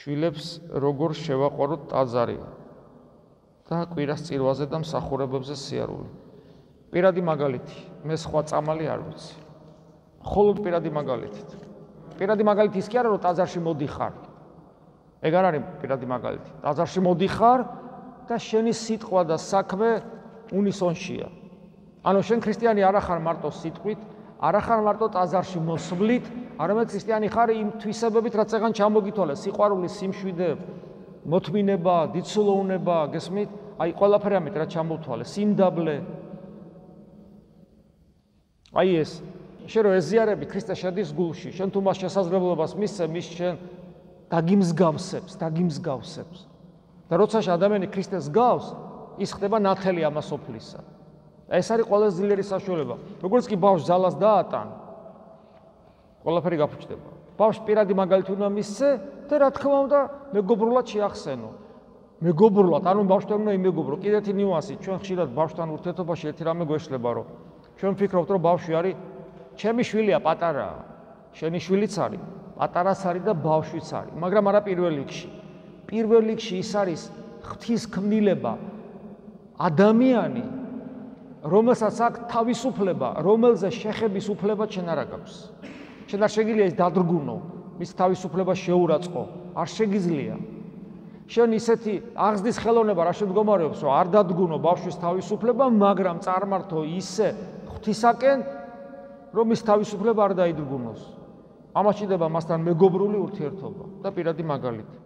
შვილებს როგორ შევაყვაროთ ტაძარი და კვირას წირვაზე და მსახურებებზე სიარული. Პირადი მაგალითი, მე სხვა წამალი არ ვიცი. მხოლოდ პირადი მაგალითით. Პირადი მაგალითი ის კი არა, რომ ტაძარში მოდიხარ. ეგ არ არის პირადი მაგალითი. ტაძარში მოდიხარ და შენი სიტყვა და საქმე უნისონშია. ანუ შენ ქრისტიანი არ ხარ მარტო სიტყვით, არ ხარ მარტო ტაძარში მოსვლით, არამედ ქრისტიანი ხარ იმ თვისებებით, რაც ეგან ჩამოგითვალე, სიყვარული, სიმშვიდე, მოთმინება, დიდსულოვნება, გესმით? აი ყველაფერი ამით რაც ჩამოვთვალე, სიმდაბლე. აი ეს, შენ რო ეზიარები ქრისტეს შედის გულში, შენ თუ მას შესაძლებლობას მისცე, მის შენ დაგიმსგავსებს. და როცა ადამიანი ქრისტეს გავს, ის ხდება ნათელი ამას ოფლისა. ეს არის ყველაზე ძლიერი საშუალება. როგორც კი ბავშვს ძალას დაატან, ყველაფერი გაფუჭდება. ბავშვს პირადი მაგალითი უნდა მისცე და რა თქმა უნდა, მეგობრულად შეახსენო. მეგობრულად, ანუ ბავშვთან უნდა იმეგობრო. კიდევ ერთი ნიუანსი, ჩვენ ხშირად ბავშვთან ურთიერთობაში ერთი რამე გვეშლება, რომ ჩვენ ვფიქრობთ, რომ ბავშვი არის ჩემი შვილია, პატარაა. შენი შვილიც არის, პატარაც არის და ბავშვიც არის, მაგრამ არა პირველ რიგში. პირველ რიგში ის არის ღვთისმკვლელობა, ადამიანი, რომელსაც აქვს თავისუფლება, რომელზე შეხების უფლება შენ არ აქვს. შენ არ შეგიძლია ის დადრგუნო, მის თავისუფლებას შეურაცხყო, არ შეგიძლია. შენ ისეთი აღზრდის ხელოვნება რა შემდგომარეობს, რომ არ დადგუნო ბავშვის თავისუფლება, მაგრამ წარმართო ისე ღვთისაკენ, რომ ის თავისუფლება არ დაიდრგუნოს. ამას ჭირდება მასთან მეგობრული ურთიერთობა და პირადი მაგალითი.